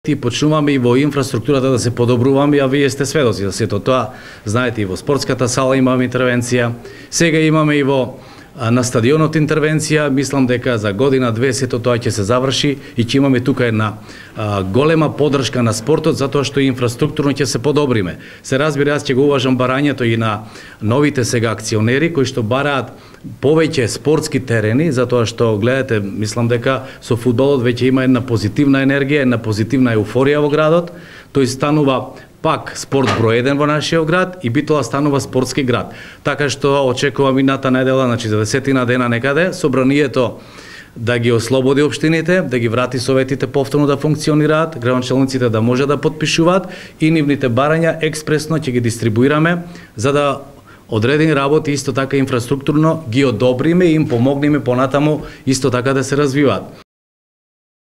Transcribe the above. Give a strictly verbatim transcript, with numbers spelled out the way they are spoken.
И почнуваме и во инфраструктурата да се подобруваме, а вие сте сведоци за сето тоа. Знаете, и во спортската сала имаме интервенција. Сега имаме и во на стадионот интервенција. Мислам дека за година-две сето тоа ќе се заврши и ќе имаме тука една а, голема поддршка на спортот, затоа што инфраструктурно ќе се подобриме. Се разбира, јас ќе го уважам барањето и на новите сега акционери кои што бараат повеќе спортски терени, затоа што гледате, мислам дека со фудбалот веќе има една позитивна енергија, една позитивна еуфорија во градот. Тој станува пак спорт број еден во нашиот град и Битола станува спортски град. Така што очекувам мината недела, значи за десетина дена некаде, собранието да ги ослободи општините, да ги врати советите повторно да функционираат, градоначалниците да може да потпишуваат и нивните барања експресно ќе ги дистрибуираме за да одредени работи исто така инфраструктурно ги одобриме и им помогнеме понатаму исто така да се развиваат.